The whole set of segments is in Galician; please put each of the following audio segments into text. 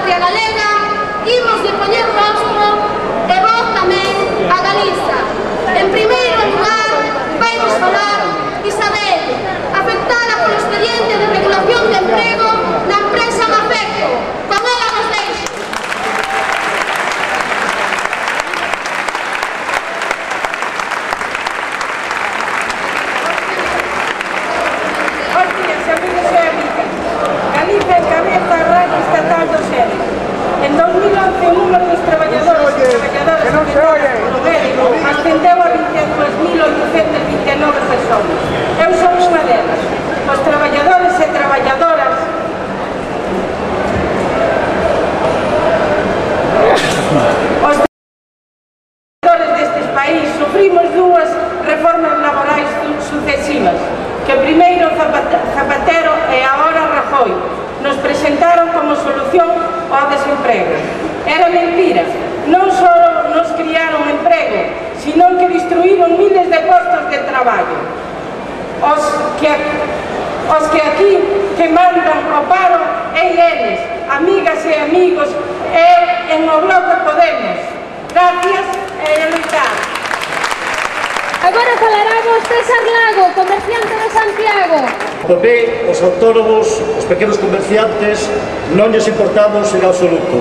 patria galega, imos de poñer rostro e voz tamén a Galiza. En primeiro lugar, vainos falar Isabel, afectada polo expediente de regulación de emprego na empresa Mafecto. Con ela nos deixo. Galiza encabeza a radio estatal do SEDE. En 2011 o número dos traballadores e traballadoras afectadas polo médico ascendeu a 22.829 persoas. Eu son unha delas. Os traballadores e traballadoras destes país sufrimos dúas reformas laborais sucesivas que primeiro Zapatero e agora Rajoy nos presentaron como solución ao desemprego. Era mentira, non só nos criaron emprego, sino que destruíron miles de postos de traballo. Os que aquí que mandan o paro e eles, amigas e amigos, e en o Bloque Podemos. Gracias e loitar. Agora falaramos César Lago, comerciante de Santiago. O PP, os autónomos, os pequenos comerciantes, non lles importamos en absoluto.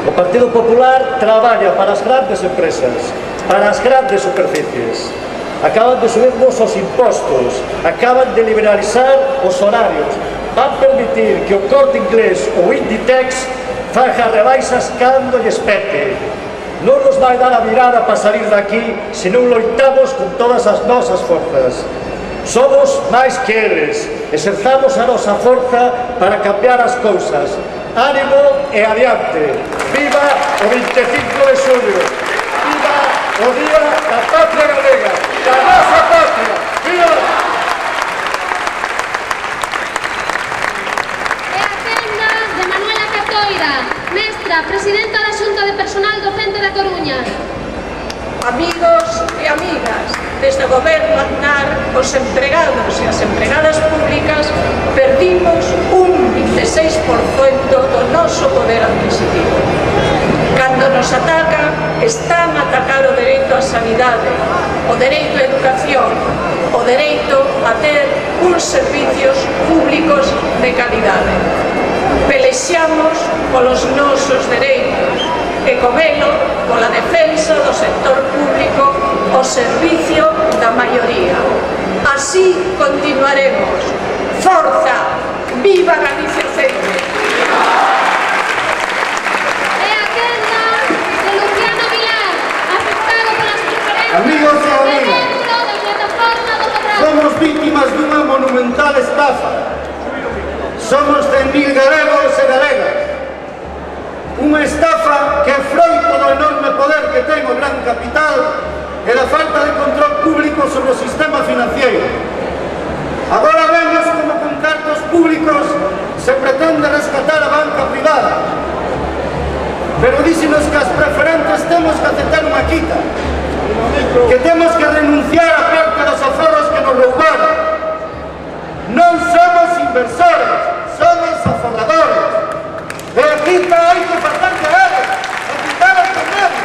O Partido Popular traballa para as grandes empresas, para as grandes superficies. Acaban de subirnos os impostos, acaban de liberalizar os horarios, van permitir que o Corte Inglés ou Inditex faga rebaixas cando lles pete. Non nos vai dar a virada para salir daqui se non loitamos con todas as nosas forzas. Somos máis que eles, exercamos a nosa forza para cambiar as cousas. Ánimo e adiante. Viva o 25 de xullo. Viva o Día da Patria Galega, da nosa patria. Viva! E a quenda de Manuela Catoira, mestra, presidenta da Xunta de Personal Docente da Coruña. Amigos e amigas, desde o Goberno Aznar, os empregados e as empregadas públicas perdimos un 26% do noso poder adquisitivo. Cando nos ataca, están a atacar o dereito á sanidade, o dereito á educación, o dereito a ter uns servicios públicos de calidade. Pelexamos polos nosos dereitos e con elo, pola defensa do sector público, o servicio da maioría. Así continuaremos. Forza! Viva Galicia sempre! E a quenda de Luciano Vilar, afectado polas preferencias Amigos e amigas, da plataforma do Cobrar. somos vítimas dunha monumental estafa. Somos 100.000 galegos e galegas. Unha estafa que é froito do enorme poder que ten o gran capital e da falta de control público sobre o sistema financiero. Agora vemos como con cartos públicos se pretende rescatar a banca privada. Pero díxenos que as preferentes temos que aceptar unha quita, que temos que renunciar a parte dos aforros que nos roubaron. Non somos inversores, somos aforradores. E a quita hai que facer de eles, e quitar as problemas.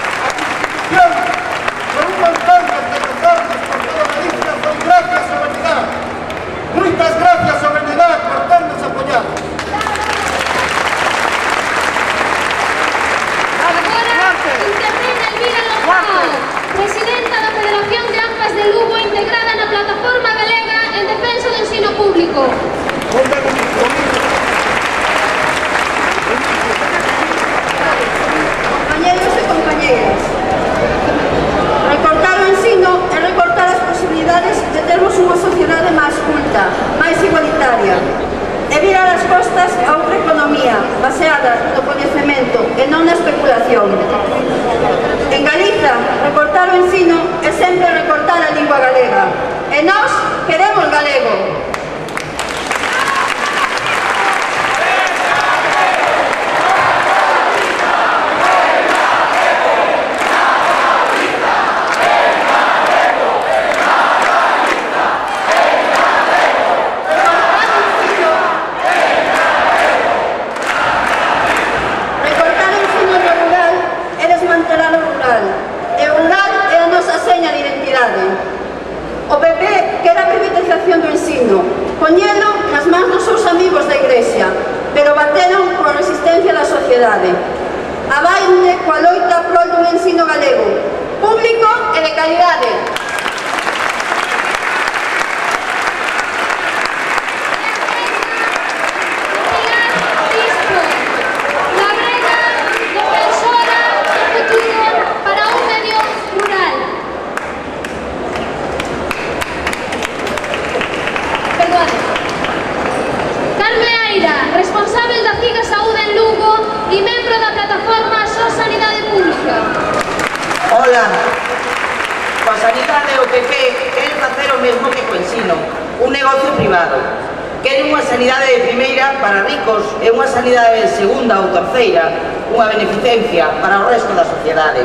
A Constitución, con un montón de reformas por toda Galicia, foi gracias ao Benidá. Moitas gracias ao Benidá por ternos apoiado. Intervén Elvira Lozao, presidenta da Federación de AMPAs de Lugo, integrada na Plataforma Galega en Defensa do Ensino Público. Compañeros e compañeiras, recortar o ensino é recortar as posibilidades de termos unha sociedade máis culta, máis igualitaria, e virar as costas a outra economía baseada no coñecemento e non na especulación. En Galiza, recortar o ensino é sempre recortar a lingua galega, e nós queremos galego. ensino galego, público e de calidade. Responsável da CIGA Saúde en Lugo e membro da plataforma Só Sanidade Pública. Hola, coa sanidade o PP quere facer o mesmo que co ensino, un negocio privado. Quere unha sanidade de primeira para ricos e unha sanidade de segunda ou terceira, unha beneficencia para o resto da sociedade.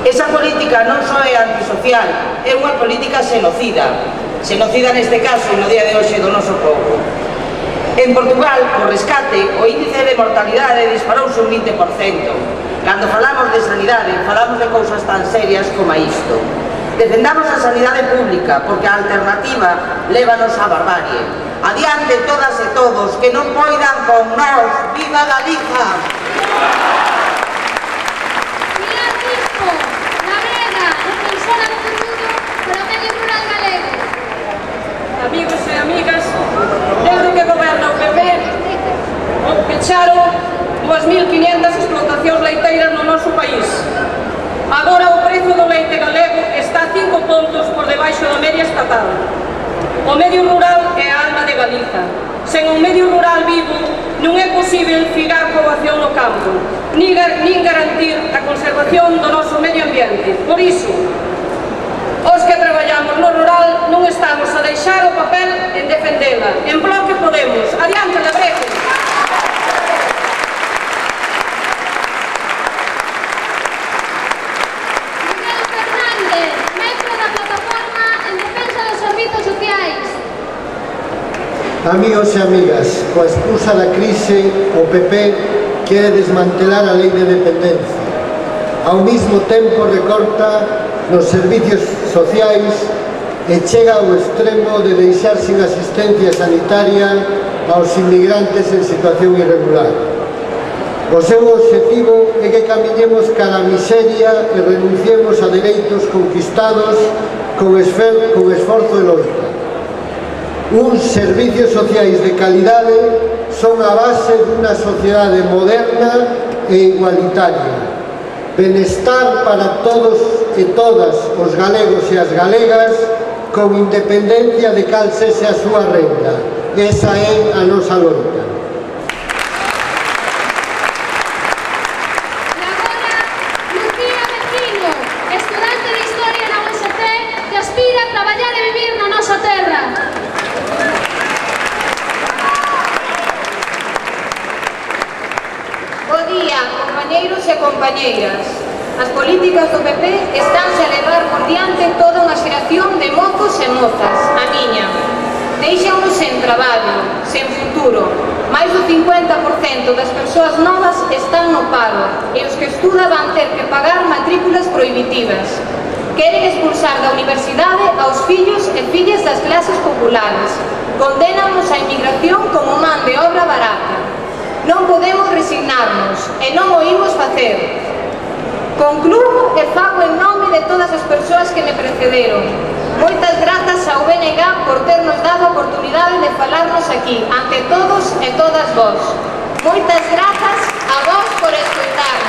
Esa política non só é antisocial, é unha política xenocida. Xenocida neste caso no día de hoxe do noso povo. En Portugal, co rescate, o índice de mortalidade disparouse un 20%. Cando falamos de sanidade, falamos de cousas tan serias como isto. Defendamos a sanidade pública, porque a alternativa lévanos á barbarie. Adiante todas e todos, que non poidan con nós. Viva Galiza! Pilar Crispo, Labrega, defensora do futuro para o medio rural galego. Amigos e amigas, desde que goberna o PP, pecharon 2.500 explotacións leiteiras no noso país. Agora o prezo do leite galego está 5 pontos por debaixo da media estatal. O medio rural é a alma de Galiza. Sen un medio rural vivo non é posible figar poboación no campo, nin garantir a conservación do noso medio ambiente. Por iso, os que traballamos no rural non estamos a deixar o papel en defendela. En Bloque Podemos. Adiante, Labrega! Miguel Fernández, membro da plataforma en defensa dos servizos sociais. Amigos e amigas, coa excusa da crise, o PP quere desmantelar a lei de dependencia. Ao mesmo tempo recorta nos servicios sociais e chega ao extremo de deixar sin asistencia sanitaria aos inmigrantes en situación irregular. O seu obxectivo é que camiñemos cara a miseria e renunciemos a dereitos conquistados con esforzo e loita. Uns servicios sociais de calidade son a base dunha sociedade moderna e igualitaria. Benestar para todos e todas os galegos e as galegas con independencia de cal sexe a súa renda. Esa é a nosa loita. E agora, Lucía Vecino, estudante de Historia na UST, que aspira a traballar e vivir na nosa terra. Bo día, compañeiros e compañeiras. As políticas do PP estánse a levar por diante toda unha xeración de mozos e mozas, a miña. Deixámonos sen traballo, sen futuro. Mais do 50% das persoas novas están no paro e os que estudan van ter que pagar matrículas prohibitivas. Queren expulsar da universidade aos fillos e fillas das clases populares. Condenamos a inmigración como man de obra barata. Non podemos resignarnos e non o imos facer. Concluo e fago en nome de todas as persoas que me precederon. Moitas grazas ao BNG por ternos dado a oportunidade de falarnos aquí, ante todos e todas vós. Moitas grazas a vós por escoitar.